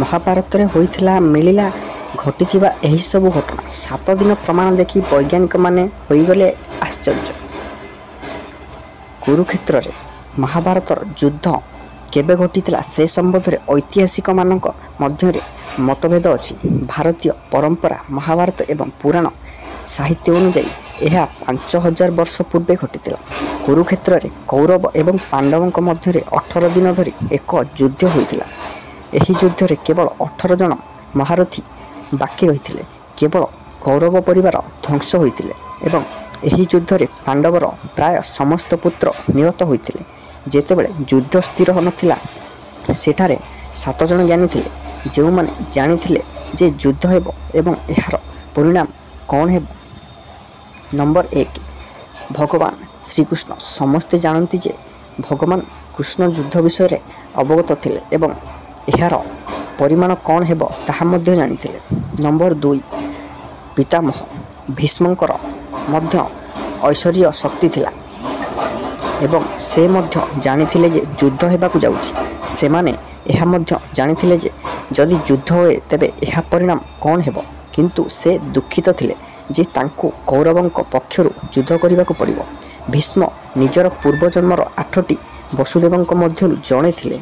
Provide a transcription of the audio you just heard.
ମହାଭାରତରେ ହୋଇଥିଲା ମିଳିଲା ଘଟିଥିବା ଏହିସବୁ ଘଟଣା। 7 ଦିନ ପ୍ରମାଣ ଦେଖି ବୈଜ୍ଞାନିକମାନେ ହୋଇଗଲେ ଆଶ୍ଚର୍ଯ୍ୟ। କୁରୁକ୍ଷେତ୍ରରେ ମହାଭାରତର ଯୁଦ୍ଧ କେବେ ଘଟିଥିଲା ସେ ସମ୍ବନ୍ଧରେ ଐତିହାସିକମାନଙ୍କ ମଧ୍ୟରେ ମତଭେଦ ଅଛି। ଭାରତୀୟ ପରମ୍ପରା, ମହାଭାରତ ଏବଂ ପୁରାଣ ସାହିତ୍ୟ ଅନୁଯାୟୀ ଏହା 5000 ବର୍ଷ ପୂର୍ବେ ଘଟିଥିଲା। କୁରୁକ୍ଷେତ୍ରରେ କୌରବ ଏବଂ ପାଣ୍ଡବଙ୍କ ମଧ୍ୟରେ 18 ଦିନ ଧରି ଏକ ଯୁଦ୍ଧ ହୋଇଥିଲା। ଏହି ଯୁଦ୍ଧରେ କେବଳ 18 ଜଣ ମହାରଥୀ ବାକି ରହିଥିଲେ। କେବଳ କୌରବ ପରିବାର ଧ୍ୱଂସ ହୋଇଥିଲେ ଏବଂ ଏହି ଯୁଦ୍ଧରେ ପାଣ୍ଡବର ପ୍ରାୟ ସମସ୍ତ ପୁତ୍ର ନିହତ ହୋଇଥିଲେ। ଯେତେବେଳେ ଯୁଦ୍ଧ ସ୍ଥିର ନଥିଲା, ସେଠାରେ ସାତ ଜଣ ଜ୍ଞାନୀ ଥିଲେ ଯେଉଁମାନେ ଜାଣିଥିଲେ ଯେ ଯୁଦ୍ଧ ହେବ ଏବଂ ଏହାର ପରିଣାମ କ'ଣ ହେବ। ନମ୍ବର 1, ଭଗବାନ ଶ୍ରୀକୃଷ୍ଣ। ସମସ୍ତେ ଜାଣନ୍ତି ଯେ ଭଗବାନ କୃଷ୍ଣ ଯୁଦ୍ଧ ବିଷୟରେ ଅବଗତ ଥିଲେ ଏବଂ ଏହାର ପରିଣାମ କ'ଣ ହେବ ତାହା ମଧ୍ୟ ଜାଣିଥିଲେ। ନମ୍ବର 2, ପିତାମହ ଭୀଷ୍ମଙ୍କର ମଧ୍ୟ ଐଶ୍ୱରୀୟ ଶକ୍ତି ଥିଲା ଏବଂ ସେ ମଧ୍ୟ ଜାଣିଥିଲେ ଯେ ଯୁଦ୍ଧ ହେବାକୁ ଯାଉଛି। ସେମାନେ ଏହା ମଧ୍ୟ ଜାଣିଥିଲେ ଯେ ଯଦି ଯୁଦ୍ଧ ହୁଏ ତେବେ ଏହା ପରିଣାମ କ'ଣ ହେବ, କିନ୍ତୁ ସେ ଦୁଃଖିତ ଥିଲେ ଯେ ତାଙ୍କୁ କୌରବଙ୍କ ପକ୍ଷରୁ ଯୁଦ୍ଧ କରିବାକୁ ପଡ଼ିବ। ଭୀଷ୍ମ ନିଜର ପୂର୍ବ ଜନ୍ମର ଆଠଟି ବସୁଦେବଙ୍କ ମଧ୍ୟରୁ ଜଣେ ଥିଲେ।